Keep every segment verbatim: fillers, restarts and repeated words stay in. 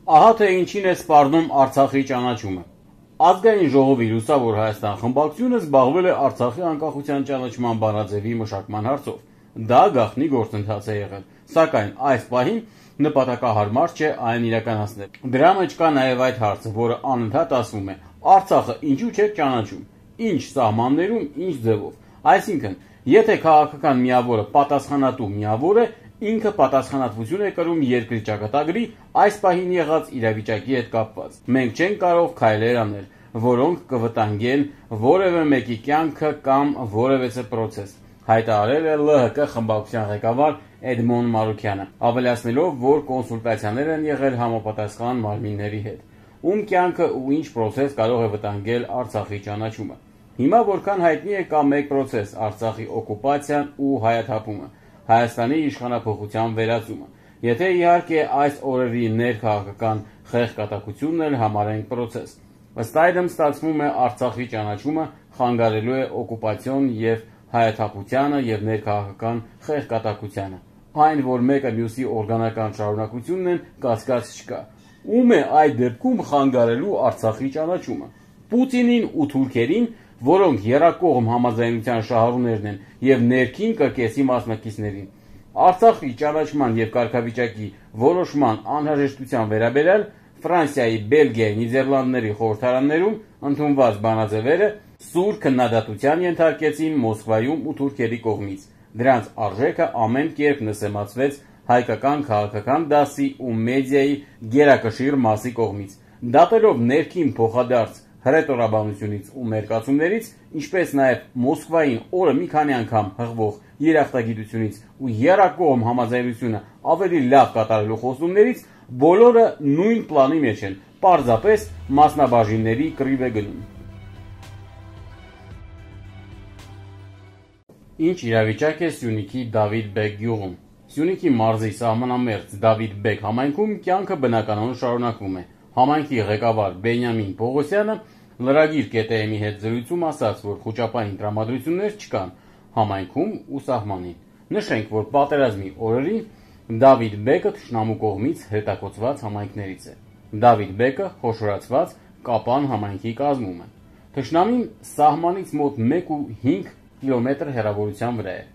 Ահա թե ինչին է սպառնում Արցախի ճանաչումը։ Ազգային ժողովի Լուսավոր Հայաստան խմբակցությունը զբաղվել է Արցախի անկախության ճանաչման բանաձևի մշակման հարցով։ Դա գաղտնի գործընթաց է եղել, սակայն այս պահին նպատակահարմար չէ այն իրականացնել։ Դրա մեջ կա նաև այդ հարցը, որը անընդհատ ասվում է. Արցախը ինչու՞ չէ ճանաչում, ինչ սահմաններում, ինչ ձևով։ Այսինքն, եթե քաղաքական միավորը պատասխանատու միավոր է, ինքը պատասխանատվություն է կրում երկրի ճակատագրի այս պահին եղած իրավիճակի հետ կապված։ Մենք չենք կարող քայլեր անել, որոնք կվտանգեն որևէ մեկի կյանքը կամ որևէ պրոցես, հայտարարել է L H K խմբակցության ղեկավար Էդմոն Մարուքյանը, ավելացնելով, որ կոնսուլտացիաներ են եղել համապատասխան մարմինների հետ, ում կյանքը ու ինչ պրոցես կարող է վտանգել Արցախի ճանաչումը։ Հիմա որքան հայտնի է, կա մեկ պրոցես՝ Արցախի օկուպացիան ու հայաթափումը, Հայաստանի իշխանափոխության վերածումը։ Եթե իհարկե այս օրերի ներքաղաքական խեղկատակությունն էլ համարենք պրոցես։ Ըստ այդմ ստացվում է Արցախի ճանաչումը խանգարելու է օկուպացիոն եւ հայաթափությանը եւ ներքաղաքական խեղկատակությանը։ Այն, որ մեկը մյուսի օրգանական շարունակությունն են, կասկած չկա։ Ում է այդ դեպքում խանգարելու Արցախի ճանաչումը։ Պուտինին ու թուրքերին, որոնք եռակողմ համաձայնության շահառուներն են եւ ներքին կրկեսի մասնակիցներին։ Արցախի ճանաչման եւ կարգավիճակի որոշման անհրաժեշտության վերաբերյալ Ֆրանսիայի, Բելգիայի, Նիդերլանդների խորհրդարաններում ընդունված բանաձևերը սուր քննադատության ենթարկեցին Մոսկվայում ու թուրքերի կողմից։ Դրանց արժեքը ամեն կերպ նսեմացվեց հայկական քաղաքական դասի ու մեդիայի գերակշիռ մասի կողմից, դատելով ներքին փոխադարձ հռետորաբանությունից ու մերկացումներից, ինչպես նաև Մոսկվային օրը մի քանի անգամ հղվող երախտագիտությունից ու եռակողմ համաձայնությունը ավելի լավ կատարելու խոստումներից, բոլորը նույն պլանի մեջ են, պարզապես մասնաբաժինների կռիվ է գնում։ Ինչ իրավիճակ է Սյունիքի Դավիթ Բեկ գյուղում։ Սյունիքի մարզի սահմանամերձ Դավիթ Բեկ համայնքում կյանքը բնականon շարունակվում է։ Համայնքի ղեկավար Բենյամին Պողոսյանը լրագիր կետ-ի հետ զրույցում ասաց, որ խոճապային տրամադրություններ չկան համայնքում ու սահմանին։ Նշենք, որ պատերազմի օրերին Դավիթ Բեկը թշնամու կողմից հետաքոծված համայնքներից է։ Դավիթ Բեկը խոշորացված Կապան համայնքի կազմում է։ Թշնամին սահմանից մոտ մեկ ու հինգ կիլոմետր հեռավորության վրա է։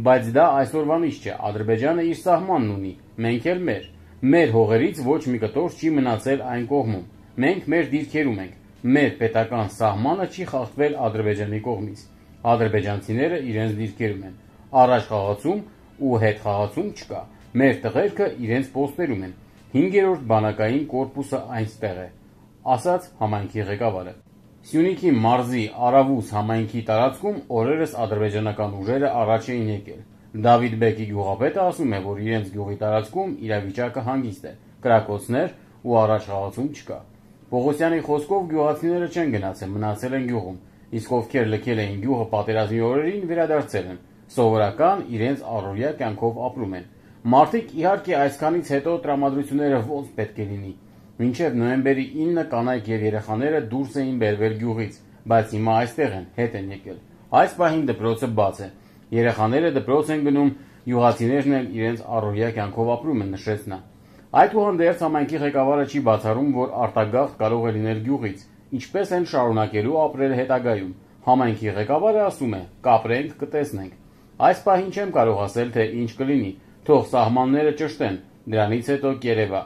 Բայց դա այսօրվանից չէ, Ադրբեջանը իր սահմանն ունի, մենք էլ մեր։ Մեր հողերից ոչ մի կտոր չի մնացել այն կողմում։ Մենք մեր դիրքերում ենք։ Մեր պետական սահմանը չի խախտվել Ադրբեջանի կողմից։ Ադրբեջանցիները իրենց դիրքերում են։ Առաջ խաղացում ու հետ խաղացում չկա։ Մեր տղերքը իրենց պոստերում են։ Հինգերորդ բանակային կորպուսը այնտեղ է, ասաց համայնքի ղեկավարը։ Սյունիքի մարզի Արավուս համայնքի տարածքում օրերս ադրբեջանական ուժերը առաջ էին եկել։ Դավիթ Բեկի գյուղապետը ասում է, որ իրենց գյուղի տարածքում իրավիճակը հանգիստ է, կրակոցներ ու առաջ խաղացում չկա։ Պողոսյանի խոսքով գյուղացիները չեն գնացել, մնացել են գյուղում, իսկ ովքեր լքել էին գյուղը պատերազմի օրերին, վերադարձել են, սովորական իրենց առօրյա կյանքով ապրում են։ Մարդիկ իհարկե այսքանից հետո տրամադրությունները ոնց պետք է լինի։ Մինչև նոյեմբերի ինը կանայք եւ երեխաները դուրս էին բերվել գյուղից, բայց հիմա այստեղ են, հետ են եկել։ Այս պահին դպրոցը բաց է։ Երեխաները դպրոց են գնում, յուղացիներն էլ իրենց առօրյա կյանքով ապրում են, նշեց նա։ Այդուհանդերձ համայնքի ղեկավարը չի բացառում, որ արտագաղթ կարող է լինել գյուղից, ինչպես են շարունակելու ապրել հետագայում։ Համայնքի ղեկավարը ասում է. կապրենք, կտեսնենք։ Այս պահին չեմ կարող ասել, թե ինչ կլինի, թող սահմանները ճշտեն, դրանից հետո կերևա,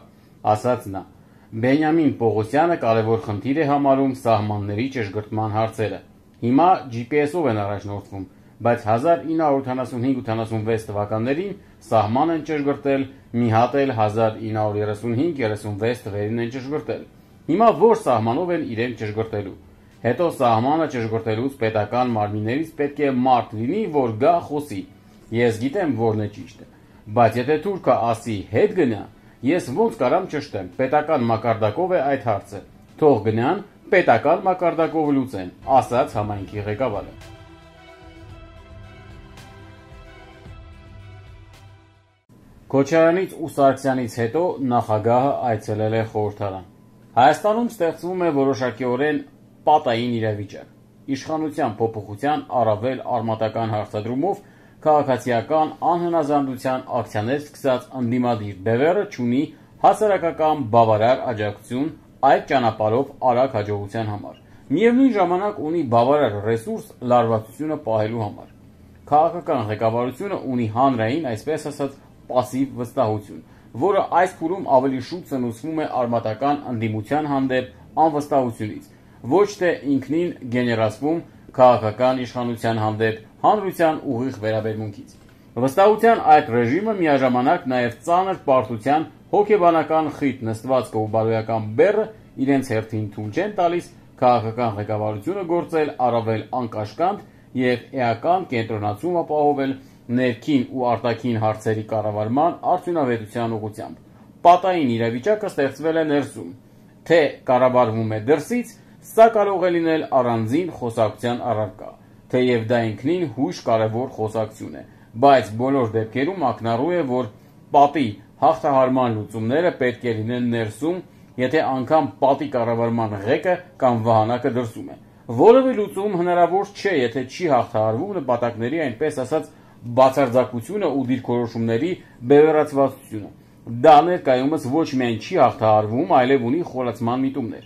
ասաց նա։ Բենյամին Պողոսյանը կարևոր խնդիր է համարում սահմանների ճշգրտման հարցերը։ Հիմա ջի պի էսով են առաջնորդվում, բայց հազար ինը հարյուր ութանասունհինգ ութանասունվեց թվականներին սահման են ճշգրտել, մի հատ էլ հազար ինը հարյուր երեսունհինգ երեսունվեց թվերին են ճշգրտել։ Հիմա որ սահմանով են իրենք ճշգրտելու։ Հետո սահմանը ճշգրտելուց պետական մարմիններից պետք է մարդ լինի, որ գա խոսի։ Ես գիտեմ որն է ճիշտը, բայց եթե թուրքը ասի հետ գնա, ես ոնց կարամ ճշտեմ, պետական մակարդակով է այդ հարցը։ Թող գնան, պետական մակարդակով լուծեն, ասաց համայնքի ղեկավարը։ Քոչարյանից ու Սարգսյանից հետո նախագահը այցելել է խորհրդարան։ Հայաստանում ստեղծվում է որոշակիորեն պատային իրավիճակ։ Իշխանության փոփոխության առավել արմատական հարցադրումով քաղաքացիական անհնազանդության ակցիաներ սկսած ընդդիմադիր բևեռը չունի հասարակական բավարար աջակցություն այդ ճանապարհով արագ հաջողության համար։ Միևնույն ժամանակ ունի բավարար ռեսուրս լարվածությունը պահելու համար։ Քաղաքական ղեկավարությունը ունի հանրային, այսպես ասած, պասիվ վստահություն, որը այս փուլում ավելի շուտ սնուցվում է արմատական ընդդիմության հանդեպ անվստահությունից, ոչ թե ինքնին գեներացվում քաղաքական իշխանության հանդեպ հանրության ուղիղ վերաբերմունքից։ Վստահության այդ ռեժիմը միաժամանակ նաև ծանր պարտության հոգեբանական խիտ նստվածքը ու բարոյական բեռը իրենց հերթին թույլ չեն տալիս քաղաքական ղեկավարությունը գործել առավել անկաշկանդ և էական կենտրոնացում ապահովել ներքին ու արտաքին հարցերի կառավարման արդյունավետության ուղղությամբ։ Պատային իրավիճակը ստեղծվել է ներսում, թե կառավարվում է դրսից, սա կարող է լինել առանձին խոսակցության առարկա, թեև դա ինքնին հույժ կարևոր խոսակցություն է, բայց բոլոր դեպքերում ակնառու է, որ պատի հաղթահարման լուծումները պետք է լինեն ներսում, եթե անգամ պատի կառավարման ղեկը կամ վահանակը դրսում է։ Որևէ լուծում հնարավոր չէ, եթե չի հաղթահարվում նպատակների, այնպես ասած, բացարձակությունը ու դիրքորոշումների բևեռացվածությունը։ Դա ներկայումս ոչ միայն չի հաղթահարվում, այլև ունի խորացման միտումներ։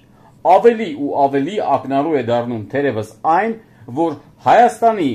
Ավելի ու ավելի ակնառու է դառնում թերևս այն, որ Հայաստանի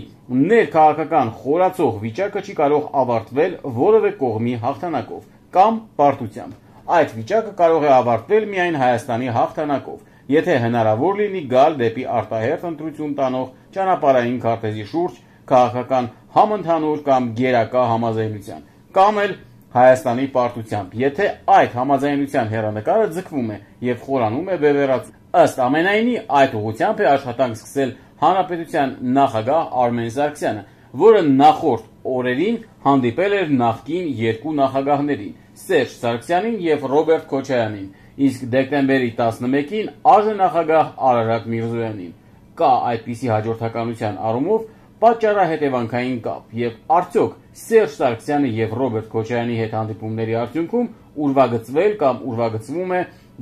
ներքաղաքական խորացող վիճակը չի կարող ավարտվել որևէ կողմի հաղթանակով կամ պարտությամբ։ Այդ վիճակը կարող է ավարտվել միայն Հայաստանի հաղթանակով, եթե հնարավոր լինի գալ դեպի արտահերթ ընտրություն տանող ճանապարհային քարտեզի շուրջ քաղաքական համընդհանուր կամ գերակա համաձայնության, կամ էլ Հայաստանի պարտությամբ, եթե այդ համաձայնության հեռանկարը ձգվում է և խորանում է բևեռացում։ Ըստ ամենայնի, այդ ուղղությամբ է աշխատանք սկսել Հանրապետության նախագահ Արմեն Սարգսյանը, որը նախորդ օրերին հանդիպել էր նախկին երկու նախագահներին՝ Սերժ Սարգսյանին և Ռոբերտ Քոչարյանին, իսկ դեկտեմբերի տասնմեկին արժանախագահ Արարատ Միրզոյանին։ Կա այդպիսի հաջորդականության առումով պատճառահետևանքային կապ, և արդյոք Սերժ Սարգսյանի և Ռոբերտ Քոչարյանի հետ հանդիպումների արդյունքում ուրվագծվել կամ ուրվագծվում է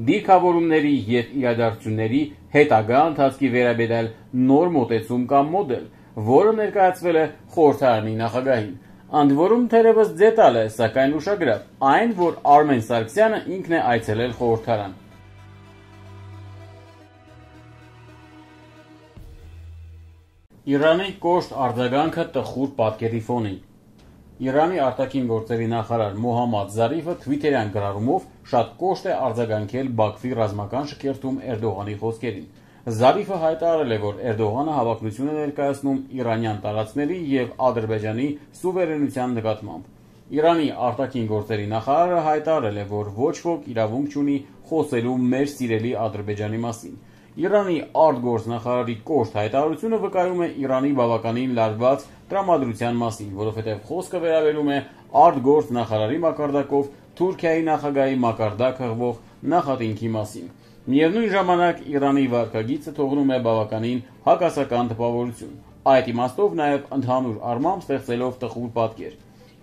դիրքավորումների և իրադարձությունների հետագա ընթացքի վերաբերյալ նոր մոտեցում կամ մոդել, որը ներկայացվել է խորհրդարանի նախագահին։ Ընդ որում թերևս դետալ է, սակայն ուշագրավ, այն, որ Արմեն Սարգսյանը ինքն է այցելել խորհրդարան։ Իրանի կոշտ արձագանքը տխուր պատկերի ֆոնին։ Իրանի արտաքին գործերի նախարար Մոհամմադ Զարիֆը թվիթերյան գրառումով շատ կոշտ է արձագանքել Բաքվի ռազմական շքերթում Էրդողանի խոսքերին։ Զարիֆը հայտարարել է, որ Էրդողանը հավակնություն է ներկայացնում իրանյան տարածքների և Ադրբեջանի սուվերենության նկատմամբ։ Իրանի արտաքին գործերի նախարարը հայտարարել է, որ ոչ ոք իրավունք չունի խոսելու մեր սիրելի Ադրբեջանի մասին։ Իրանի արտգործնախարարի կոշտ հայտարարությունը վկայում է Իրանի բավականին լարված տրամադրության մասին, որովհետև խոսքը վերաբերում է արտգործնախարարի մակարդակով Թուրքիայի նախագահի մակարդակ հղվող նախատինքի մասին։ Միևնույն ժամանակ Իրանի վարքագիծը թողնում է բավականին հակասական տպավորություն, այդ իմաստով նաև ընդհանուր առմամբ ստեղծելով տխուր պատկեր։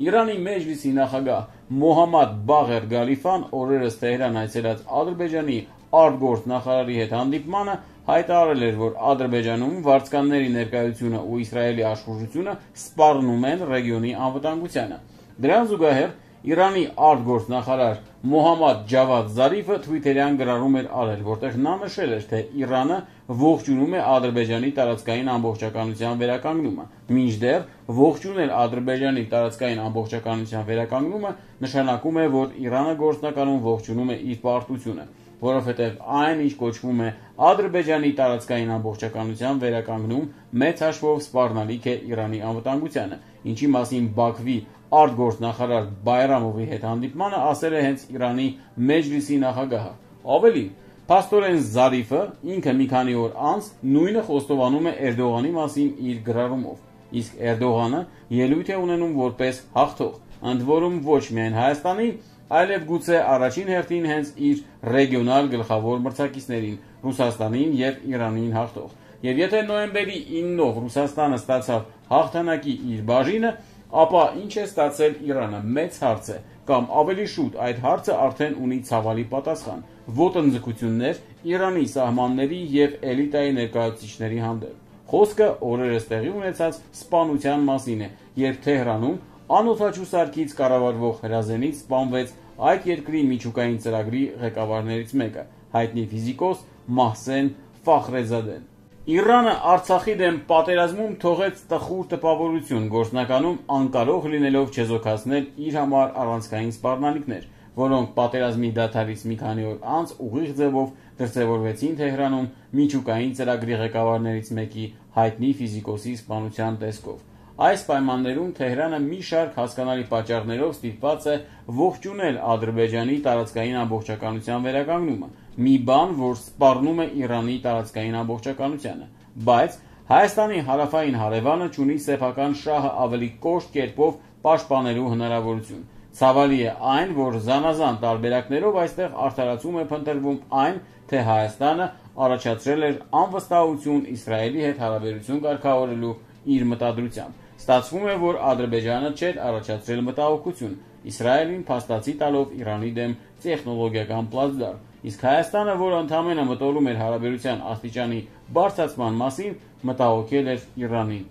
Իրանի Մեջլիսի նախագահ Մոհամմադ Բաղեր Գալիֆան օրերս Թեհրան այցելած Ադրբեջանի արտգործնախարարի հետ հանդիպմանը հայտարարել էր, որ Ադրբեջանում վարձկանների ներկայությունը ու Իսրայելի աշխուժությունը սպառնում են ռեգիոնի անվտանգությանը։ Դրան զուգահեռ Իրանի արտգործնախարար Մոհամմադ Ջավադ Զարիֆը թվիթերյան գրառում էր արել, որտեղ նա նշել էր, թե Իրանը ողջունում է Ադրբեջանի տարածքային ամբողջականության վերականգնումը, մինչդեռ ողջունել Ադրբեջանի տարածքային ամբողջականության վերականգնումը նշանակում է, որ Իրանը գործնականում ողջունում է իր պարտությունը, որովհետև այն, ինչ կոչվում է Ադրբեջանի տարածքային ամբողջականության վերականգնում, մեծ հաշվով սպառնալիք է Իրանի անվտանգությանը, ինչի մասին Բաքվի արտգործնախարար Բայրամովի հետ հանդիպմանը ասել է հենց Իրանի Մեջլիսի նախագահը։ Ավելին, փաստորեն Զարիֆը ինքը մի քանի օր անց նույնը խոստովանում է Էրդողանի մասին իր գրառումով, իսկ Էրդողանը ելույթ է ունենում որպես հաղթող, ընդ որում ոչ միայն Հայաստանին, այլև գուցե առաջին հերթին հենց իր ռեգիոնալ գլխավոր մրցակիցներին՝ Ռուսաստանին և Իրանին հաղթող։ Եվ եթե նոյեմբերի իննով Ռուսաստանը ստացավ հաղթանակի իր բաժինը, ապա ինչ է ստացել Իրանը, մեծ հարց է, կամ ավելի շուտ այդ հարցը արդեն ունի ցավալի պատասխան՝ ոտնձգություններ Իրանի սահմանների և էլիտայի ներկայացուցիչների հանդեպ։ Խոսքը օրերս տեղի ունեցած սպանության մասին է, երբ Թեհրանում անօդաչու սարքից կառավարվող հրազենից սպանվեց այդ երկրի միջուկային ծրագրի ղեկավարներից մեկը, հայտնի ֆիզիկոս Մահսեն Ֆախրեզադեն։ Իրանը Արցախի դեմ պատերազմում թողեց տխուր տպավորություն, գործնականում անկարող լինելով չեզոքացնել իր համար առանցքային սպառնալիքներ, որոնք պատերազմի դադարից մի քանի օր անց ուղիղ ձևով դրսևորվեցին Թեհրանում միջուկային ծրագրի ղեկավարներից մեկի հայտնի ֆիզիկոսի սպանության տեսքով։ Այս պայմաններում Թեհրանը մի շարք հասկանալի պատճառներով ստիպված է ողջունել Ադրբեջանի տարածքային ամբողջականության վերականգնումը, մի բան, որ սպառնում է Իրանի տարածքային ամբողջականությանը, բայց Հայաստանի հարավային հարևանը չունի սեփական շահը ավելի կոշտ կերպով պաշտպանելու հնարավորություն։ Ցավալի է այն, որ զանազան տարբերակներով այստեղ արդարացում է փնտրվում այն, թե Հայաստանը առաջացրել էր անվստահություն Իսրայելի հետ հարաբերություն կարգավորելու իր մտադրությամբ։ Ստացվում է, որ Ադրբեջանը չէր առաջացրել մտահոգություն, Իսրայելին փաստացի տալով Իրանի դեմ տեխնոլոգիական պլացդարմ, իսկ Հայաստանը, որ ընդամենը մտորում էր հարաբերության աստիճանի բարձրացման մասին, մտահոգել էր Իրանին։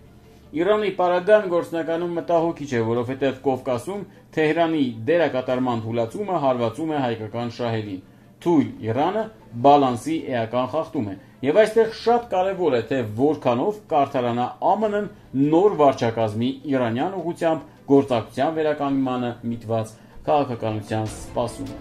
Իրանի պարագան գործնականում մտահոգիչ է, որովհետև Կովկասում Թեհրանի դերակատարման թուլացումը հարվածում է հայկական շահերին։ Թույլ Իրանը բալանսի էական խախտում է, եւ այստեղ շատ կարևոր է, թե որքանով կարդարանա ԱՄՆ-ն նոր վարչակազմի իրանյան ուղղությամբ գործակցության վերականգնմանը միտված քաղաքականության սպասումը։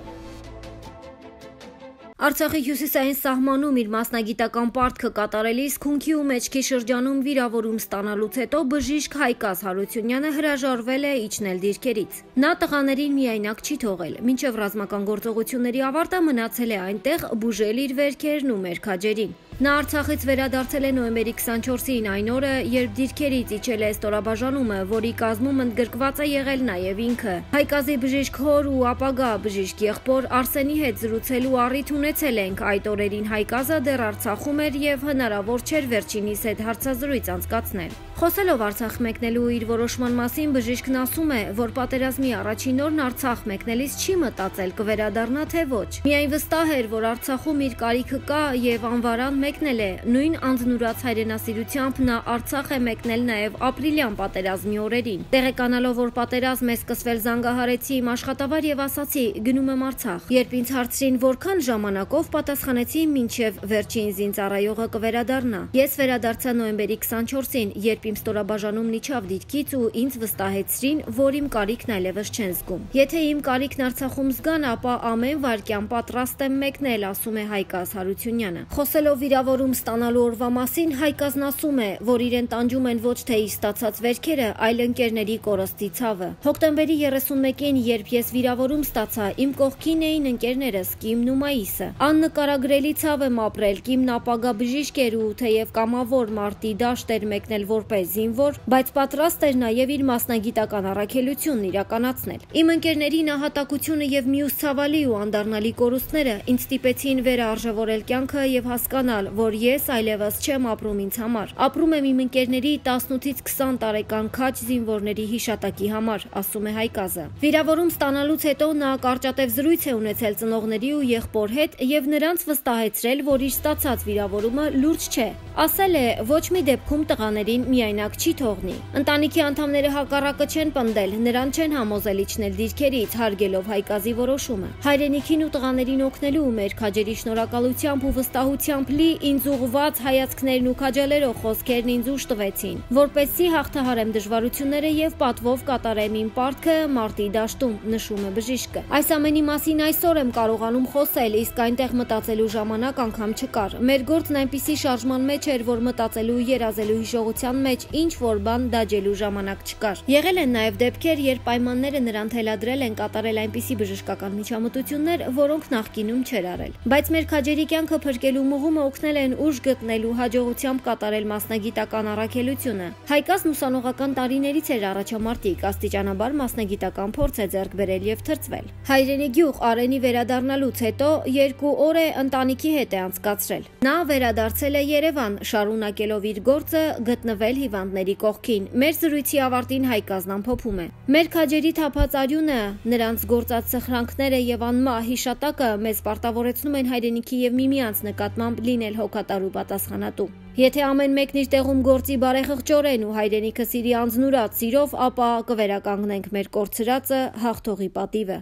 Արցախի հյուսիսային սահմանում իր մասնագիտական պարտքը կատարելիս Քունքի ու Մեջքի շրջանում վիրավորում ստանալուց հետո բժիշկ Հայկազ Հարությունյանը հրաժարվել է իջնել դիրքերից։ Նա տղաներին միայնակ չի թողել, մինչև ռազմական գործողությունների ավարտը մնացել է այնտեղ բուժել իր վերքերն ու մերքաջերին։ Նա Արցախից վերադարձել է նոյեմբերի քսանչորսին, այն օրը, երբ դիրքերից իջել է ստորաբաժանումը, որի կազմում ընդգրկված է եղել նաև ինքը։ Հայկազի բժիշկ հոր ու ապագա բժիշկ եղբոր Արսենի հետ զրուցելու առիթ ունեցել ենք։ Այդ օրերին Հայկազը դեռ Արցախում էր եւ հնարավոր չէր վերջինիս հետ հարցազրույց անցկացնել։ Խոսելով Արցախ մեկնելու իր որոշման մասին, բժիշկն ասում է, որ պատերազմի առաջին օրն Արցախ մեկնելիս չի մտածել կվերադառնա թե ոչ։ Միայն վստահ էր, որ Արցախում իր կարիքը կա եւ անվարան մեկնել է։ Նույն անձնուրաց հայրենասիրությամբ նա Արցախ է մեկնել նաև ապրիլյան պատերազմի օրերին։ Տեղեկանալով, որ պատերազմ է սկսվել, զանգահարեցի իմ աշխատավար եւ ասացի՝ գնում եմ Արցախ։ Երբ ինձ հարցրին որքան ժամանակով, պատասխանեցի՝ մինչև վերջին զինծառայողը կվերադառնա։ Ես վերադարձա նոյեմբերի քսանչորսին, երբ իմ ստորաբաժանումն իջավ դիրքից ու ինձ վստահեցրին, որ իմ կարիքն այլևս չեն զգում։ Եթե իմ կարիքն Արցախում զգան, ապա ամեն վայրկյան պատրաստ եմ մեկնել, ասում է Հայկազ Հարությունյանը։ Խոսելով վիրավորում ստանալու օրվա մասին, Հայկազն ասում է, որ իրեն տանջում են ոչ թե իր ստացած վերքերը, այլ ընկերների կորստի ցավը։ Հոկտեմբերի երեսունմեկին, երբ ես վիրավորում ստացա, իմ կողքին էին ընկերներս Կիմն ու Մայիսը։ Աննկարագրելի ցավ եմ ապրել, Կիմն ապագա բժիշկ էր ու թեև կամավոր մարտի դաշտ էր մեկնել որպես զինվոր, բայց պատրաստ էր նաև իր մասնագիտական առաքելությունն իրականացնել։ Իմ ընկերների նահատակությունը եւ մյուս ցավալի ու անդառնալի կորուստները ինձ ստիպեցին վերարժևորել կյանքը եւ հասկանալ, որ ես այլևս չեմ ապրում ինձ համար։ Ապրում եմ իմ ընկերների տասնութից քսան տարեկան քաջ զինվորների հիշատակի համար, ասում է Հայկազը։ Վիրավորում ստանալուց հետո նա կարճատև զրույց է ունեցել ծնողների ու եղբոր հետ եւ նրանց վստահեցրել, որ իր ստացած վիրավորումը լուրջ չէ։ Ասել է, ոչ մի դեպքում տղաներին միայնակ չի թողնի։ Ընտանիքի անդամները հակառակը չեն պնդել, նրան չեն համոզել իջնել դիրքերից, հարգելով Հայկազի որոշումը։ Հայրենիքին ու տղաներին օգնելու ու մեր քաջերի շնորհակալությամբ ու վստահությամբ լի ինձ ուղղված հայացքներն ու քաջալերող խոսքերն ինձ ուժ տվեցին, որպեսզի հաղթահարեմ դժվարությունները եւ պատվով կատարեմ իմ պարտքը մարտի դաշտում, նշում է բժիշկը։ Այս ամենի մասին այսօր եմ կարողանում խոսել, իսկ այնտեղ մտածելու ժամանակ անգամ չկար։ Մեր գործն այնպիսի շարժման մեջ էր, որ մտածելու ու երազելու հիշողության մեջ ինչ որ բան դաջելու ժամանակ չկար։ Եղել են նաև դեպքեր, երբ պայմանները նրան թելադրել են կատարել այնպիսի բժշկական միջամտություններ, որոնք նախկինում չէր արել։ Բայց մեր քաջերի կյանքը փրկելու մղումը օգնել են ուժ գտնելու հաջողությամբ կատարել մասնագիտական առաքելությունը։ Հայկազն ուսանողական տարիներից էր առաջամարտիկ, աստիճանաբար մասնագիտական փորձ է ձեռք բերել եւ թրծվել։ Հայրենի գյուղ Արենի վերադառնալուց հետո երկու օր է ընտանիքի հետ է անցկացրել։ Նա վերադարձել է Երևան, շարունակելով իր գործը գտնվել հիվանդների կողքին։ Մեր զրույցի ավարտին Հայկազն ամփոփում է. Մեր քաջերի թափած արյունը, նրանց գործած սխրանքները եւ անմահ հիշատակը մեզ պարտավորեցնում են հայրենիքի եւ միմյանց նկատմամբ լինել հոգատար ու պատասխանատու։ Եթե ամեն մեկն իր տեղում գործի բարեխղճորեն ու հայրենիքը սիրի անձնուրաց սիրով, ապա կվերականգնենք մեր կորցրածը, հաղթողի պատիվը։